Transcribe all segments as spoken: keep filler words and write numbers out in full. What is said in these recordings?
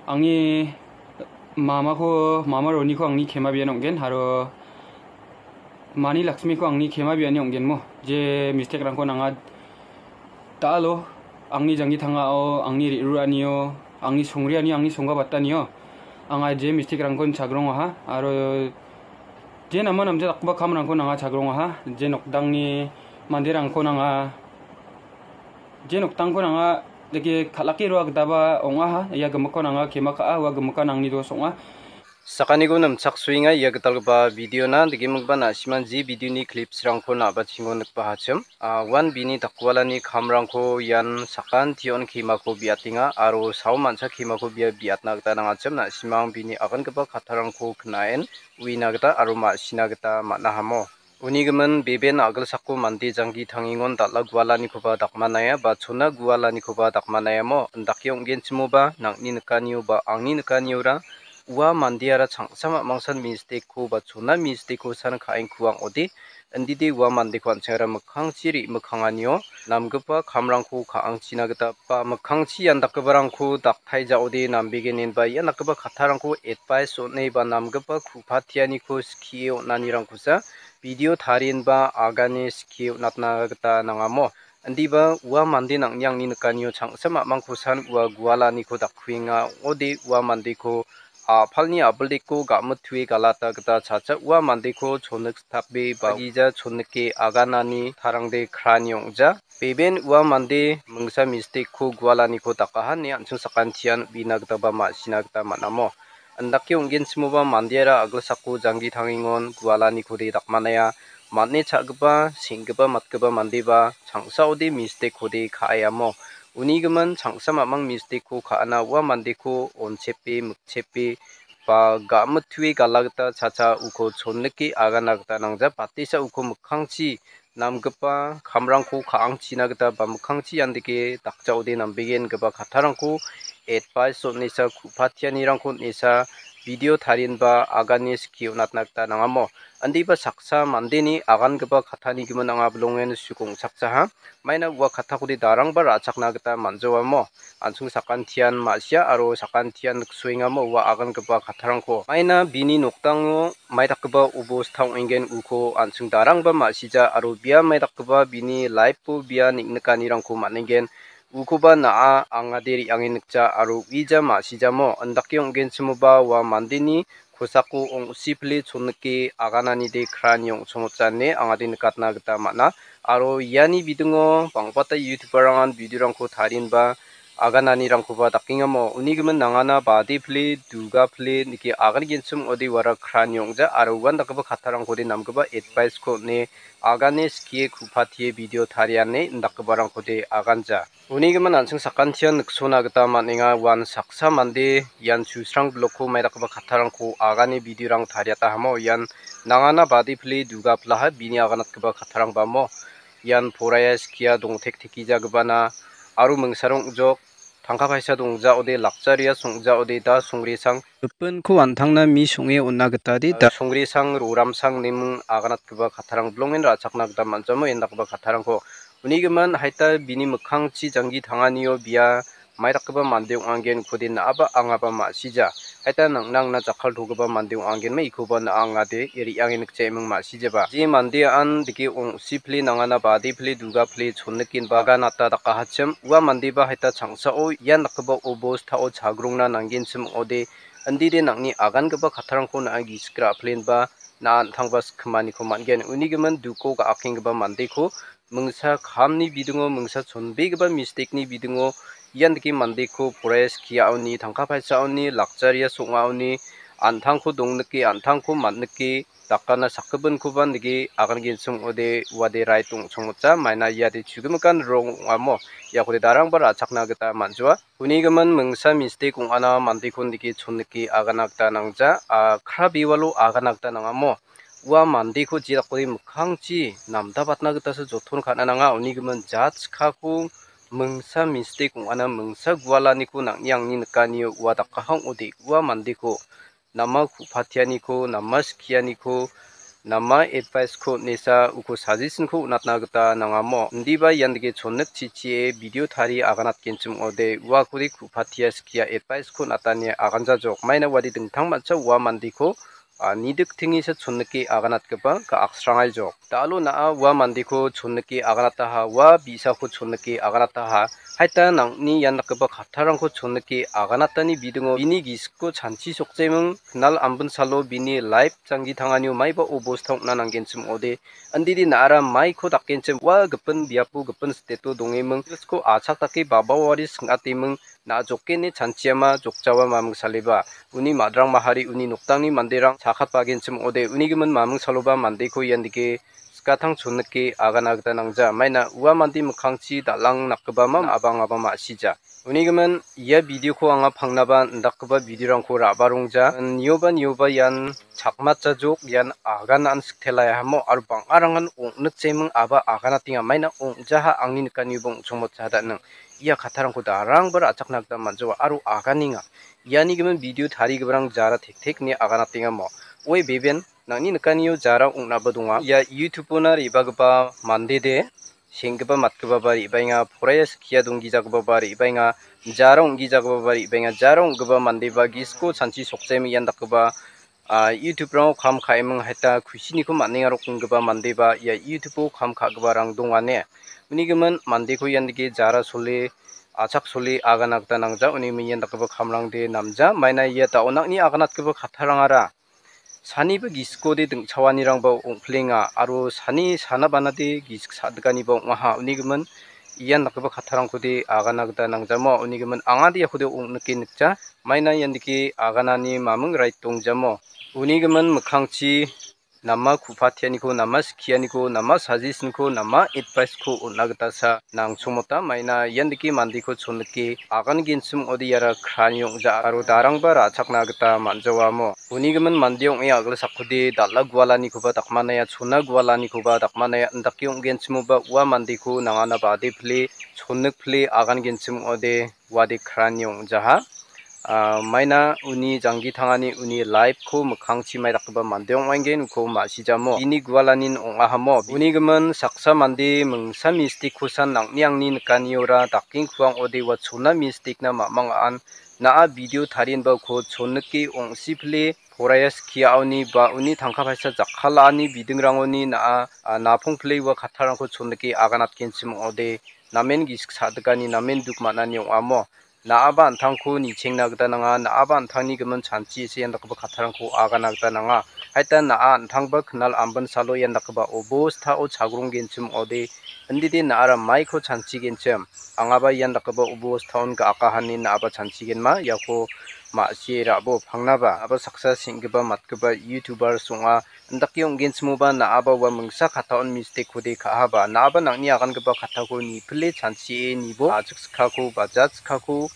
Angni mamako, mama Roniko angni kema biani ong·gen aro mani Laksmiko angni kema biani ong·genmo. Je mistake-rangko nanga da·alo, angni janggi tangao, angni re·ruranio, angni songriani, angni songgabatanio anga je mistake-rangkon chagrongaha aro je nama namja dakgipa kamrangko nanga chagrongaha. Je nokdangni manderangko nanga, je noktangko nanga dake kal·ake roa gitaba ong·aha. Ia gimikko nanga kema ka·a, ua gimikan angni dos ong·a. Sakaniko nimchaksoenga ia gitalgipa video-na, dake mingba na·siman je video-ni clips-rangko na·bachingo nikbahachim. Ah, uan bini dakgiwalani kamrangko ian sakantion kemako biatenga aro saum an·cha kemako bia biatna gita nangachim. Na·simang bini agangipa kattarangko knaen uina gita aro ma·sina gita man·ahamo. Uni gimin beben a·gilsako mande janggi tangengon dal·a gualanikoba dakmanaia ba chona gualanikoba dakmanaiamo. Indake ong·genchimoba nang·ni nikanio ba angni nikaniora ua mandeara changsam a·mangsan mistake-ko ba chona mistake-ko san ka·engkuang ong·ode. Indide ua mandeko an·chingara mikkangchi re·mikkanganio namgipa kamrangko ka·angchina gita ba mikkangchi ian dakgiparangko daktaija ong·ode nambegen enba ian dakgipa kattarangko advice on·e ba namgipa ku·patianiko skie on·anirangkosa video tarienba agane skie on·atna gita nangamo. Indiba ua mande nang·ni angni nikanio changsam a·mangkosan ua gualaniko dakkuenga ong·ode ua mandeko a·palni a·bildeko ga·mitue galata gita chacha ua mandeko chonik sitapbe ba gija chonike aganani tarangde krani ong·ja. Beben ua mande mingsa mistake-ko gualaniko dakaha ine an·ching sakantian uina gitaba ma·sina gita man·amo. Indake ong·genchimoba mandeara a·gilsako janggi tangengon gualanikode dakmanaia. Man·e cha·gipa, seng·gipa, matgipa mandeba changsaode mistake-kode ka·aiamo. Uni gimin changsam a·mang mistake-ko ka·ana ua mandeko onchepe, mikchepe ba ga·mitue gala gita chacha uko chonnike agana gita nangja. Batesa uko mikkangchi namgipa kamrangko ka·angchina gita ba mikkangchi ian dake dakjaode nambegengipa kattarangko advice on·esa ku·patianirangko on·esa video tarienba agane skie on·atna gita nangamo. Indiba saksa mandeni agangipa kattani gimin anga bilongen sukongchakjaha. Maina ua kattakode darangba ra·chakna gita man·jawamo. An·ching sakantian ma·sia aro sakantian niksoengamo ua agangipa kattarangko. Maina bini nokdango mai dakgipa obostao ong·engen uko an·ching darangba ma·sija aro bia mai dakgipa bini life-o bia neng·nikanirangko man·engen. Ukoba na·a angade re·ange nikja aro uija ma·sijamo. Indake ong·genchimoba ua mandeni kosako ong·sipile chonnike agananide krani ong·chongmotja ine angade nikatna gita man·a. Aro iani bidingo bang·bata YouTuber-rangan video-rangko tarienba agananirangkoba dakengamo. Uni gimin nangana bade pile, duga pile nike agangenchim ong·ode uara krani ong·ja aro uandakgipa kattarangkode namgipa advice-ko on·e agane skie ku·patie video tariane indakgiparangkode aganja. Uni gimin an·ching sakantian niksona gita man·enga, uan saksa mande ian Susrang biloko maidakgipa kattarangko agane video-rang tariatahamo. Ian nangana bade pile duga pilaha bini aganatgipa kattarang bamo. Ian poraiya skia dongtektekijagipana aro mingsarang ong·jok, tangka paisa dongjaode, lakjaria songjaode, da songresang gipinko an·tangna mi song·e on·a gitade da songresang roramsang neming aganatgipa kattarang bilongen ra·chakna gita man·jamo, ian dakgipa kattarangko. Uni gimin haita bini mikkangchi janggi tanganio bia maidakgipa mande ong·angen ukode na·aba angaba ma·sija. Haita nang·na angna jakkaltogipa mande ong·angenma ikoba na·a angade re·ange nikjaeming ma·sijaba. Je mande an dike ong·sipile nangana bade pile duga pile chonnikenba aganata dakahachim. Ua mandeba haita changsao ian dakgipa obostao chagrongna nanggenchim ong·ode, indide nang·ni agangipa kattarangko na·a gisik ra·pilenba na·a an·tangba skimaniko man·gen. Uni gimin duko ga·akenggipa mandeko mingsa kamni bidingo, mingsa chonbegipa mistake-ni bidingo ian dike mandeko poraiya skiaoni, tangka paisaoni, lakjaria song·aoni, an·tangko dongnike, an·tangko man·nike, dakana sakgipinkoba nike agangenchim ong·ode uade right ong·chongmotja, maina iade chugimikan rong ong·amo, iakode darangba ra·chakna gita man·joa. Uni gimin mingsa mistake ong·ana mandeko nike chonnike agana gita nangja, a, kra bewalo agana gita nangamo. Ua mandeko jedakode mikkangchi namdabatna gitasa joton ka·na nanga. Uni gimin jat chikako mingsa mistake ong·ana, mingsa gualaniko nang·ni angni nikanio ua dakaha ong·ode ua mandeko nama ku·patianiko, nama skianiko nama advice-ko on·esa uko suggestion-ko on·atna gita nangamo. Indiba ian dake chonnik chichie video tarie aganatgenchim ong·ode uakode ku·patia skia advice-ko on·atani aganjajok. Maina uade dingtang mancha ua mandeko, a, nidiktingesa chonnike aganatgipa ga·aksrangaijok. Da·alo na·a ua mandeko chonnike aganataha, ua bi·sako chonnike aganataha. Haita nang·ni ian dakgipa kattarangko chonnike aganatani bidingo bini gisikko chanchi sokjeming, knal ambinsalo bini life janggi tanganio maiba obosta ong·na nanggenchim ong·ode. Andidi na·ara maiko dakgenchim ua gipin biapo gipin state-o dongeming, pilsko achak dake babawari sing·ateming, na·a jokeni chanchiama jokjawa maming saliba. Uni madrang mahari uni noktangni manderang chakatbagenchim ong·ode. Uni gimin maming saloba mandeko ian dike skatang chonnike agana gita nangja. Maina ua mande mikkangchi dal·ang nakgipama abang abang ma·sija. Uni gimin ia video-ko anga pangnaba indakgipa video-rangko ra·barongja. Nioba nioba ian chakmatjajok, ian agan an siktelaiahamo aro bang·arangan ong·nikjeming aba aganatenga. Maina ong·jaha angni nikanioba ong·chongmotja daning. Ia kattarangko darangba ra·chakna gita man·jawa aro aganenga. Iani gimin video tarigiparang jara tektek ine aganatengamo. Oe beben, nang·ni nikanio jara ong·naba donga. Ia YouTube-ona re·bagipa mandede, seng·gipa matgipaba re·baenga, poraia skia donggijagipaba re·baenga, jara ong·gijagipaba re·baenga, jara ong·gipa mandeba gisko chanchi sokjaime ian dakgipa, a, YouTube-rango kam ka·eming haita kusiniko man·engarok inggipa mandeba ia YouTube-o kam ka·giparang dongane. Uni gimin mandeko ian dike jara sole, achak sole agana gita nangja. Uni gimin ian dakgipa kamrangde namja. Maina ia da·onakni aganatgipa kattarangara saniba gisikode dingchawanirangba ong·plenga aro sani sana banade gisik sa·diganiba ong·aha. Uni gimin ian dakgipa kattarangkode agana gita nangjamo. Uni gimin angade iakode ong·nike nikja. Maina ian dike aganani maming rait dongjamo. Uni gimin mikkangchi nama ku·patianiko, nama skianiko, nama suggestion-ko, nama advice-ko on·na gita sa nangchongmota. Maina ian dike mandeko chonnike agangenchim ong·ode iara krani ong·ja aro darangba ra·chakna gita man·jawamo. Uni gimin mande ong·e a·gilsakode dal·a gualanikoba dakmanaia, chona gualanikoba dakmanaia, indake ong·genchimoba ua mandeko nangana bade pile, chonnik pile agangenchim ong·ode uade krani ong·jaha. Ah, maina uni janggi tangani uni life-ko mikkangchi maidakgipa mande ong·aengen uko ma·sijamo. Ini gualanin ong·ahamo. Uni gimin saksa mande mingsa mistake-kosan nang·ni angni nikaniora dakengkuang ode ua chona mistake-na mamang a·an. Na·a video tarienba uko chonnike ong·sipile poraia skiaoni ba uni tangka paisa jakkala·ani bidingrangoni na·a, ah, napong pile ua kattarangko chonnike aganatgenchim ong·ode. Namen gisik sa·dikani, namen duk man·ani ong·amo. Na·aba an·tangko nichengna gita nanga, na·aba an·tangni gimin chanchi ese ian dakgipa kattarangko agana gita nanga. Haita na·a an·tangba knal ambin salo ian dakgipa obostao chagronggenchim ong·ode, indide na·ara maiko chanchigenchim. Angaba ian dakgipa obostaon ga·akahani na·aba chanchigenma, iako ma·sie ra·bo. Pangnaba, aba saksa seng·gipa matgipa YouTubers ong·a. Indake ong·genchimoba na·aba ua mingsa kattaon mistake-kode ka·ahaba, na·aba nang·ni agangipa kattako nipile chanchie nibo, a·chik sikako, baja sikako,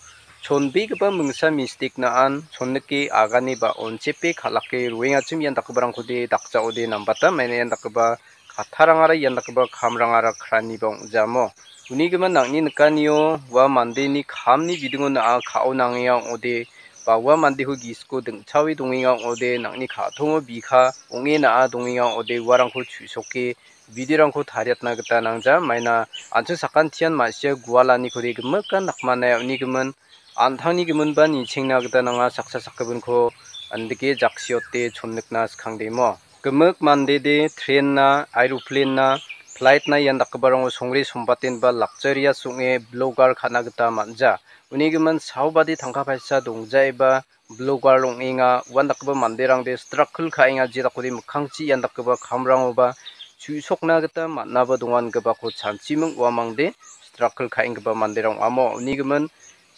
chonbegipa mingsa mistake-naan chonnike agane ba onchepe kal·ake roengachim ian dakgiparangkode dakjaode nambata, maina ian dakgipa kattarangara ian dakgipa kamrangara kraniba ong·jamo. Uni gimin nang·ni nikanio ua mandeni kamni bidingo na·a ka·o nangenga ong·ode, ba ua mandeko gisiko dingchawe dongenga ong·ode, nang·ni ka·tongo bika ong·e na·a dongenga ong·ode, uarangko chu·soke video-rangko tariatna gita nangja. Maina an·ching sakantian ma·sia gualanikode gimikan dakmanaia uni gimin an·tangni giminba nichengna gita nanga saksa sakgipinko andike jaksiote chonnikna skangdemo. Gimik mandede train-na, aeroplane-na, flight-na ian dakgiparango songre sombatenba luxurious ong·e blogger ka·na gita man·ja. Uni gimin saobade tangka paisa dongjaeba blogger ong·enga. Uan dakgipa manderangde struggle ka·enga, jedakode mikkangchi ian dakgipa kamrangoba chu·sokna gita man·aba donganigipako chanchiming uamangde struggle ka·enggipa manderang ong·amo. Uni gimin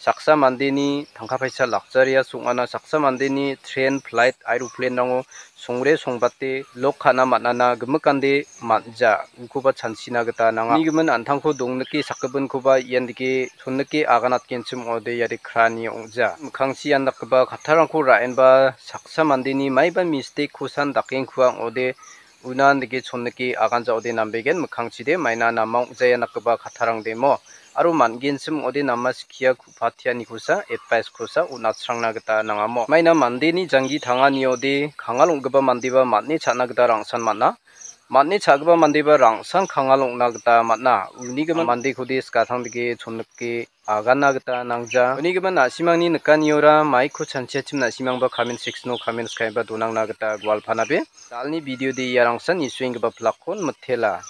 saksa mandeni tangka paisa luxurious ong·ana, saksa mandeni train, flight, aeroplane-rango songre songbate lok ka·na man·ana gimikande man·ja, ukoba chanchina gita nanga. Uni gimin an·tangko dongnike sakgipinkoba ian dike chonnike aganatgenchim ong·ode iade krani ong·ja. Mikkangchi ian dakgipa kattarangko ra·enba saksa mandeni maiba mistake-kosan dakengkua ong·ode Unan dike chonnike aganjaode nambegen mikkangchide maina nama ong·jaia nakgipa kattarangdemo. Aro man·genchim ong·ode nama skia ku·patianikosa advice-kosa on·atsrangna gita nangamo. Maina mandeni janggi tangani ong·ode kangal ong·gipa mandeba man·e cha·na gita rangsan man·a. Man·e cha·gipa mandeba rangsan kangal ong·na gita man·a. Unigimin mandekode skatang dike chonnike aganna gita nangja. Unigimin na·simangni nikaniora maiko chanchiachim na·simangba comment section-o comments ka·eba donangna gita gualpanabe. Dalni video-de iarangsan isuenggipa plakkon mitela.